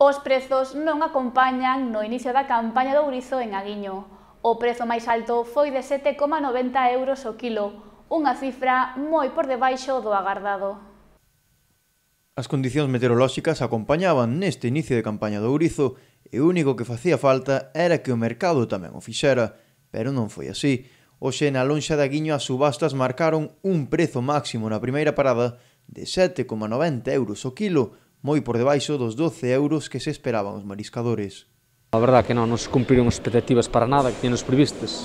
Os prezos non acompañan no inicio da campaña do ourizo en Aguiño. O prezo máis alto foi de 7,90 euros o quilo, unha cifra moi por debaixo do agardado. As condicións meteorolóxicas acompañaban neste inicio de campaña do ourizo e o único que facía falta era que o mercado tamén o fixera, pero non foi así. Hoxe na lonxa de Aguiño as subastas marcaron un prezo máximo na primeira parada de 7,90 euros o quilo, moi por debaixo dos 12 euros que se esperaban os mariscadores. A verdade que non se cumpriron as expectativas para nada que tiñamos previstas.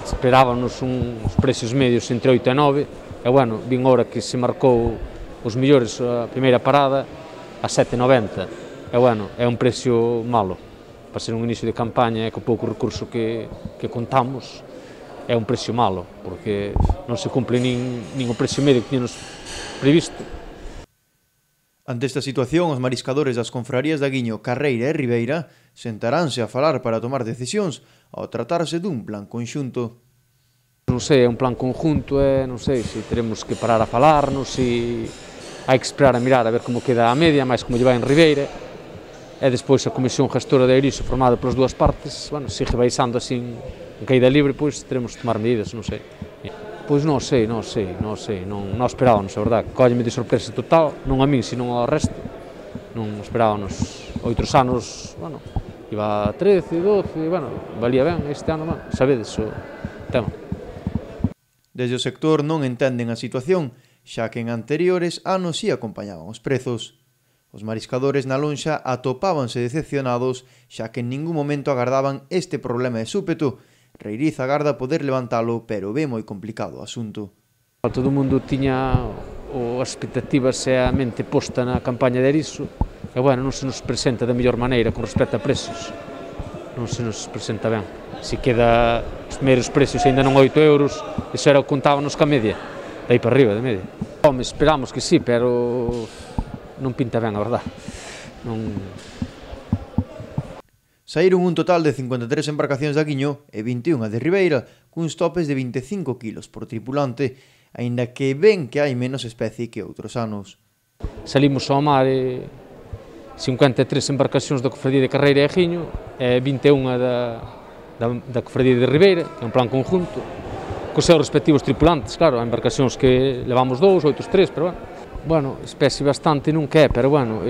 Esperábamos uns precios medios entre 8 e 9 e, bueno, vin ahora que se marcou os mellores a primeira parada a 7,90 e, bueno, é un precio malo para ser un inicio de campaña e co pouco recurso que contamos é un precio malo porque non se cumple nin o precio medio que tiñamos previsto. Ante esta situación, os mariscadores das confrarías de Aguiño, Carreira e Ribeira sentaránse a falar para tomar decisións ao tratarse dun plan conxunto. Non sei, é un plan conjunto e non sei se teremos que parar a falarnos, se hai que esperar a mirar a ver como queda a media, máis como lle vai en Ribeira, e despois a comisión gestora de Eiriso formada polas dúas partes, bueno, sigue baixando así en caída libre, pois teremos que tomar medidas, non sei. Pois non sei, non esperábamos, a verdade, cólleme de sorpresa total, non a min, sino ao resto, non esperábamos. Outros anos, bueno, iba a 13, 12, bueno, valía ben, este ano, bueno, sabedes o tema. Desde o sector non entenden a situación, xa que en anteriores anos si acompañaban os prezos. Os mariscadores na lonxa atopábanse decepcionados, xa que en ningún momento agardaban este problema de súpeto. Reiriz agarda poder levantalo, pero ve moi complicado o asunto. Todo o mundo tiña as expectativas e a mente posta na campaña de Eiriso, e, bueno, non se nos presenta da mellor maneira con respecto a precios. Non se nos presenta ben. Se queda os primeiros precios ainda non 8 euros, iso era o que contábamos ca media, daí para arriba da media. Home, esperamos que sí, pero non pinta ben, a verdade. Saíron un total de 53 embarcacións de Aguiño e 21 de Ribeira, cuns topes de 25 kilos por tripulante, aínda que ven que hai menos especie que outros anos. Salimos ao mar 53 embarcacións da Cofradía de Carreira e Aguiño e 21 da Cofradía de Ribeira, que é un plan conjunto, cos seus respectivos tripulantes, claro, há embarcacións que levamos 2, outros 3, pero bueno, especie bastante non que é, pero bueno,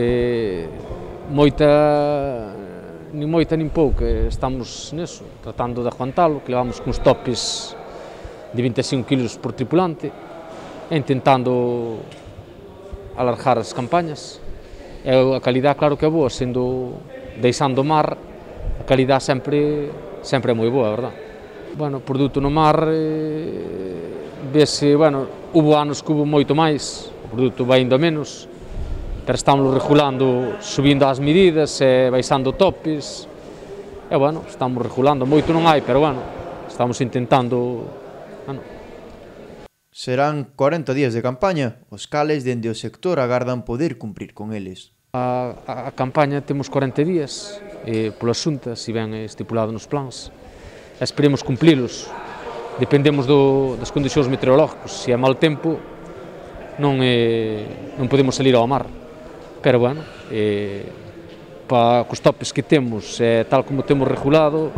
nin moita nin pouca, estamos neso, tratando de aguantalo, que levamos cuns topes de 25 kilos por tripulante, e intentando alargar as campañas. E a calidad, claro que é boa, deixando o mar, a calidad sempre é moi boa, a verdade. Bueno, produto no mar, vese, bueno, hubo anos que hubo moito máis, o produto vai indo a menos, pero estamos regulando, subindo as medidas e baixando topes, e, bueno, estamos regulando, moito non hai, pero, bueno, estamos intentando, bueno. Serán 40 días de campaña, os cales dende o sector agardan poder cumprir con eles. A campaña temos 40 días, pola Xunta, se ben estipulado nos plans, e esperemos cumplilos. Dependemos das condicións meteorológicas, se é mal tempo non podemos salir ao mar. Pero, bueno, cos topes que temos, tal como temos regulado,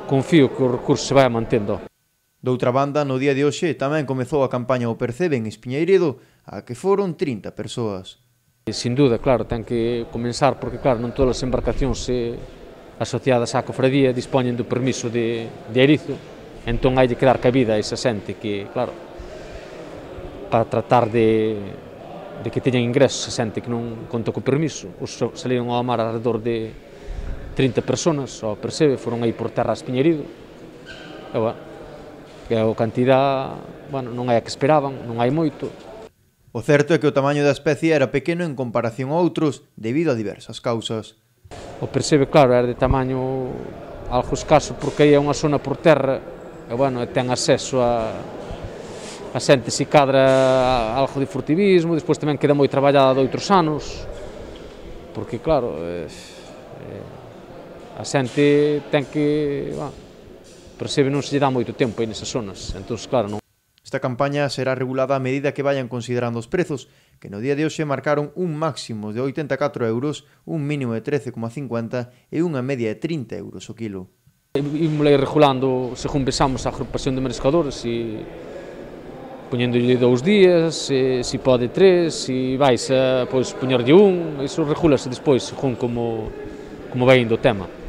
confío que o recurso se vai mantendo. Doutra banda, no día de hoxe tamén comezou a campaña O Percebe en Espiñeiredo, a que foron 30 persoas. Sin duda, claro, ten que comenzar, porque, claro, non todas as embarcacións asociadas á cofradía dispoñen do permiso de Eirizo, entón hai de quedar cabida a esa xente que, claro, para tratar de que teñan ingresos, a xente que non conta co permiso. Saliron ao mar alrededor de 30 personas, ao Percebe, foron aí por terra a Espiñeiredo, e, bueno, que a cantidad, bueno, non é a que esperaban, non hai moito. O certo é que o tamaño da especie era pequeno en comparación a outros, debido a diversas causas. O Percebe, claro, era de tamaño algo escaso, porque aí é unha zona por terra, e, bueno, ten acceso a xente se cadra algo de furtivismo, despois tamén queda moi traballada de outros anos, porque, claro, a xente ten que, Percebe, non se lle dá moito tempo aí nesas zonas, entón, claro, non. Esta campaña será regulada a medida que vayan considerando os prezos, que no día de hoxe marcaron un máximo de 84 euros, un mínimo de 13,50 e unha media de 30 euros o quilo. Imos regulando según pensamos a agrupación de mariscadores e poñéndolle 2 días, se pode 3, se vais a poñerlle un, iso regúlase despois según como vai indo o tema.